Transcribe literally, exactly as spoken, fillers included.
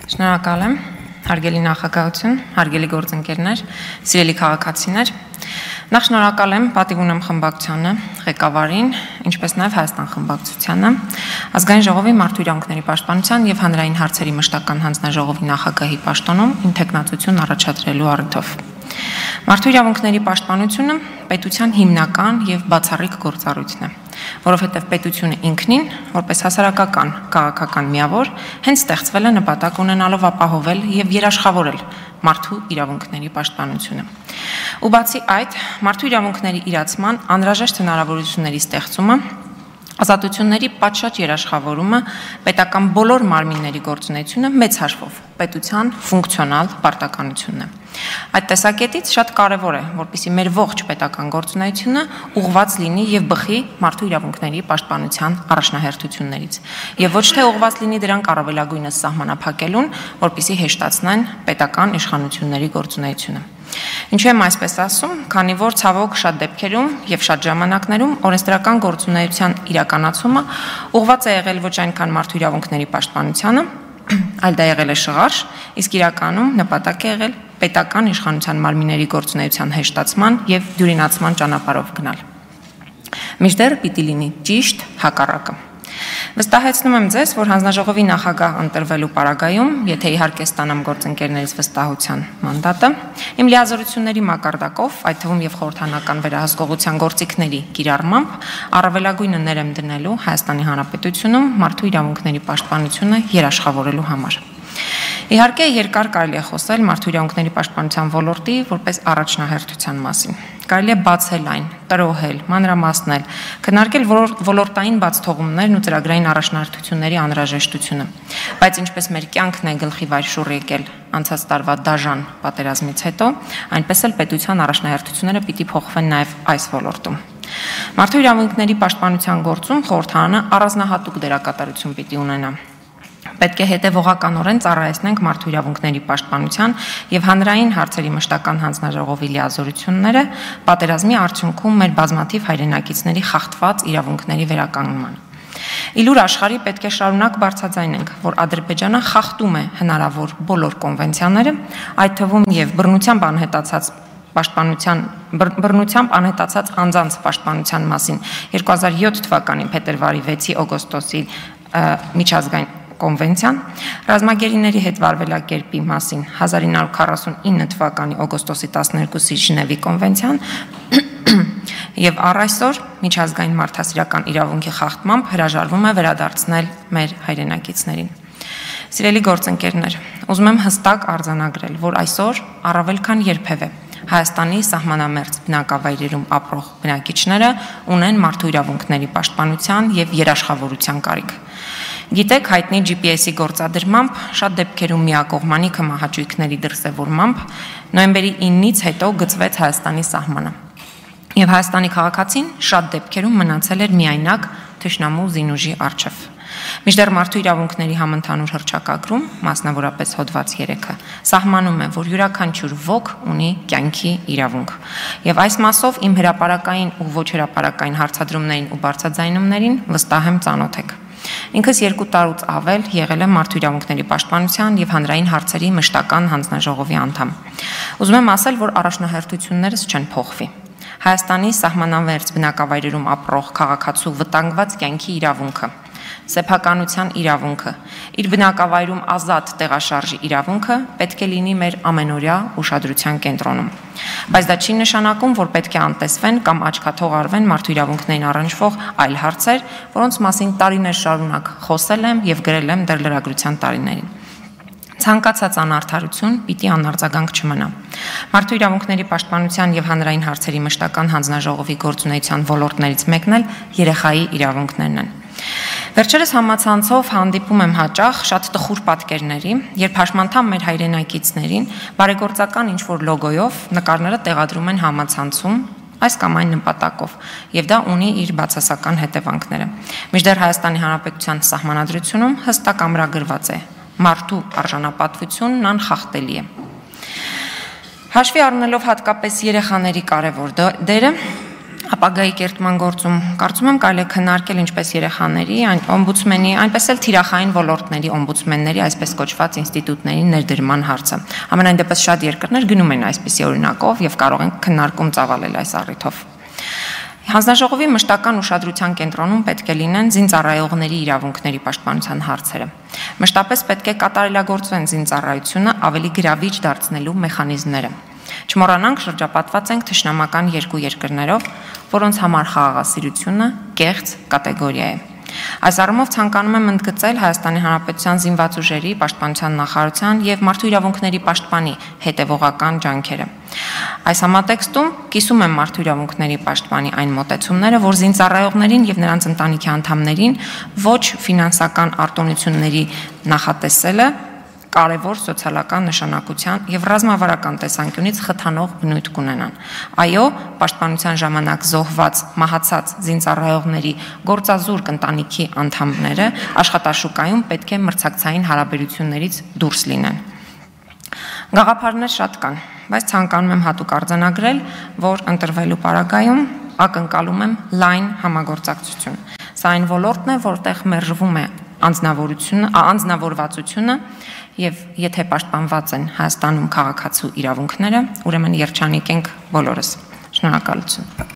Շնորհակալ եմ, հարգելի նախագահություն, հարգելի գործընկերներ, սիրելի քաղաքացիներ։ Նախ շնորհակալ եմ պատիվ ունեմ խմբակցությանը, ղեկավարին, ինչպես նաև Հայաստան խմբակցությանը, Ազգային ժողովի մարդու իրավունքների պաշտպանության և հանրային հարցերի մշտական հանձնաժողովի նախագահի պաշտոնում իմ թեկնածություն առաջադրելու առիթով։ Մարդու իրավունքների պաշտպանությունը պետության հիմնական և բացառիկ գործառույթն է, որովհետև պետությունը ինքնին, որպես հասարակական քաղաքական միավոր, հենց ստեղծվել է նպատակ ունենալով ապահովել և երաշխավորել մարդու իրավունքների պաշտպանությունը։ Ու բացի այդ, մարդու իրավունքների իրացման անհրաժեշտ հնարավորությունների ստեղծումը, ազատությունների պատշաճ երաշխավորումը, պետական բոլոր մարմինների գործունեությունը մեծ հաշվով պետության ֆունկցիոնալ պարտականությունն է։ Այդ տեսակետից շատ կարևոր է, որպեսզի մեր ողջ պետական գործունեությունը ուղղված լինի և բխի մարդու իրավունքների պաշտպանության առաջնահերթություններից, և ոչ թե ուղղված լինի դրանք առավելագույնս սահմանափակելուն, որպեսզի հեշտացնեն պետական իշխանությունների գործունեությունը։ Ինչու եմ այսպես ասում, քանի որ ցավոք շատ դեպքերում և շատ ժամանակներում օրենսդրական գործունեության իրականացումը ուղղված է եղել ոչ այնքան մարդու իրավունքների պաշտպանությանը, այլ դա եղել է շղարշ, իսկ իրականում նպատակ է եղել պետական իշխանության մարմինների գործունեության հեշտացման և դյուրինացման ճանապարհով գնալ։ Մինչդեռ պիտի լինի ճիշտ հակառակը։ Վստահեցնում եմ ձեզ, որ հանձնաժողովի նախագահ ընտրվելու պարագայում, եթե իհարկե ստանամ գործընկերներից վստահության մանդատը, իմ լիազորությունների մակարդակով, այդ թվում և խորհրդանական վերահսկողության գործիքների կիրառմամբ, առավելագույնը ներ եմ դնելու Հայաստանի Հանրապետությունում մարդու իրավունքների պաշտպանությունը երաշխավորելու համար։ Իհարկե, երկար կարելի է խոսել մարդու իրավունքների պաշտպանության ոլորտի որպես առաջնահերթության մասին։ Կարելի է բացել այն, տրոհել, մանրամասնել, քննարկել ոլորտային բացթողումներն ու ծրագրային առաջնահերթությունների անհրաժեշտությունը։ Բայց ինչպես մեր կյանքն է գլխի վայր շուռ եկել անցած տարվա դաժան պատերազմից հետո, այնպես էլ պետության առաջնահերթությունները պիտի փոխվեն նաև այս ոլորտում։ Մարդու իրավունքների պաշտպանության գործում խորհրդարանը առանձնահատուկ դերակատարություն պիտի ունենա։ Պետք է հետևողականորեն ծառայեցնենք մարդու իրավունքների պաշտպանության և հանրային հարցերի մշտական հանձնաժողովի լիազորությունները պատերազմի արդյունքում մեր բազմաթիվ հայրենակիցների խախտված իրավունքների վերականգնման։ Իլուր աշխարհի պետք է շարունակ բարձրաձայնենք, որ Ադրբեջանը խախտում է հնարավոր բոլոր կոնվենցիաները, այդ թվում և բռնությամբ անհետացած պաշտպանության բռնությամբ անհետացած անձանց պաշտպանության մասին երկու հազար յոթ թվականի փետրվարի վեցի օգոստոսի միջազգային կոնվենցիան, ռազմագերիների հետ վարվելակերպի մասին հազար ինը հարյուր քառասունինը թվականի օգոստոսի տասներկուսի Ժնևի կոնվենցիան և առ այսօր միջազգային մարդասիրական իրավունքի խախտմամբ հրաժարվում է վերադարձնել մեր հայրենակիցներին։ Սիրելի գործընկերներ, ուզում եմ հստակ արձանագրել, որ այսօր առավել քան երբևէ Հայաստանի սահմանամերձ բնակավայրերում ապրող բնակիչները ունեն մարդու իրավունքների պաշտպանության և երաշխավորության կարիք։ Գիտեք, հայտնի ջի պի էսի գործադրմամբ, շատ դեպքերում միակողմանի քմահաճույքների դրսևորմամբ նոյեմբերի իննից հետո գծվեց Հայաստանի սահմանը։ Եվ Հայաստանի քաղաքացին շատ դեպքերում մնացել էր միայնակ թշնամու զինուժի առջև։ Մինչդեռ մարդու իրավունքների համընդհանուր հռչակագրում, մասնավորապես հոդված երեքը, սահմանում է, որ յուրաքանչյուր ոք ունի կյանքի իրավունք։ Եվ այս մասով իմ հրապարակային ու ոչ հրապարակային հարցադրումներին ու բարձրաձայնումներին վստահ եմ ծանոթ եք։ Ինքս երկու տարուց ավել եղել եմ մարդու իրավունքների պաշտպանության և հանրային հարցերի մշտական հանձնաժողովի անդամ։ Ուզում եմ ասել, որ առաջնահերթություններս չեն փոխվի։ Հայաստանի սահմանամերձ բնակավայրերում ապրող քաղաքացու վտանգված կյանքի իրավունքը, սեփականության իրավունքը, իր բնակավայրում ազատ տեղաշարժի իրավունքը պետք է լինի մեր ամենօրյա ուշադրության կենտրոնում։ Բայց դա չի նշանակում, որ պետք է անտեսվեն կամ աչքաթող արվեն մարդու իրավունքներին առնչվող այլ հարցեր, որոնց մասին տարիներ շարունակ խոսել եմ և գրել եմ դեռ լրագրության տարիներին։ Ցանկացած անարդարություն պիտի անարձագանք չմնա։ Մարդու իրավունքների պաշտպանության և հանրային հարցերի մշտական հանձնաժողովի գործունեության ոլորտներից մեկն էլ երեխայի իրավունքներն են։ Վերջերս համացանցով հանդիպում եմ հաճախ շատ տխուր պատկերների, երբ հաշմանդամ մեր հայրենակիցներին բարեգործական ինչ-որ լոգոյով նկարները տեղադրում են համացանցում այս կամ այն նպատակով, և դա ունի իր բացասական հետևանքները։ Մինչդեռ Հայաստանի Հանրապետության սահմանադրությունում հստակ ամրագրված է. մարդու արժանապատվությունն անխախտելի է։ Հաշվի առնելով հատկապես երեխաների կարևոր դերը, ապագայի կերտման գործում կարծում եմ կարելի է քննարկել ինչպես երեխաների, օմբուդսմենի, այնպես էլ թիրախային ոլորտների օմբուդսմենների, այսպես կոչված ինստիտուտների ներդրման հարցը։ Համենայն դեպս շատ երկրներ գնում են այսպիսի օրինակով եւ կարող են քննարկում ծավալել այս առիթով։ Հանձնաժողովի մշտական ուշադրության կենտրոնում պետք է լինեն զինծառայողների իրավունքների պաշտպանության հարցերը։ Մշտապես պետք է կատարելագործվեն զինծառայությունը ավելի գրավիչ դարձնելու մեխանիզմները։ Չմոռանանք, շրջապատված ենք թշնամական երկու երկրներով, որոնց համար խաղաղասիրությունը կեղծ կատեգորիա է։ Այս առումով ցանկանում եմ ընդգծել Հայաստանի Հանրապետության զինված ուժերի պաշտպանության նախարարության եւ մարդու իրավունքների պաշտպանի հետեւողական ջանքերը։ Այս համատեքստում կիսում եմ մարդու իրավունքների պաշտպանի այն մոտեցումները, որ զինծառայողներին եւ նրանց ընտանիքի անդամներին ոչ ֆինանսական արտոնությունների նախատեսելը կարևոր սոցիալական նշանակության եւ ռազմավարական տեսանկյունից խթանող բնույթ կունենան։ Այո, պաշտպանության ժամանակ զոհված, մահացած զինծառայողների գործազուրկ ընտանիքի անդամները աշխատաշուկայում պետք է մրցակցային հարաբերություններից դուրս լինեն։ Գաղափարներ շատ կան, բայց ցանկանում եմ հատուկ արձանագրել, որ ընտրվելու պարագայում ակնկալում եմ լայն համագործակցություն։ Սա այն ոլորտն է, որտեղ մերժվում է անձնավորությունը, անձնավորվածությունը եւ եթե պաշտպանված են Հայաստանում քաղաքացու իրավունքները, ուրեմն երջանիկ ենք բոլորս։ Շնորհակալություն։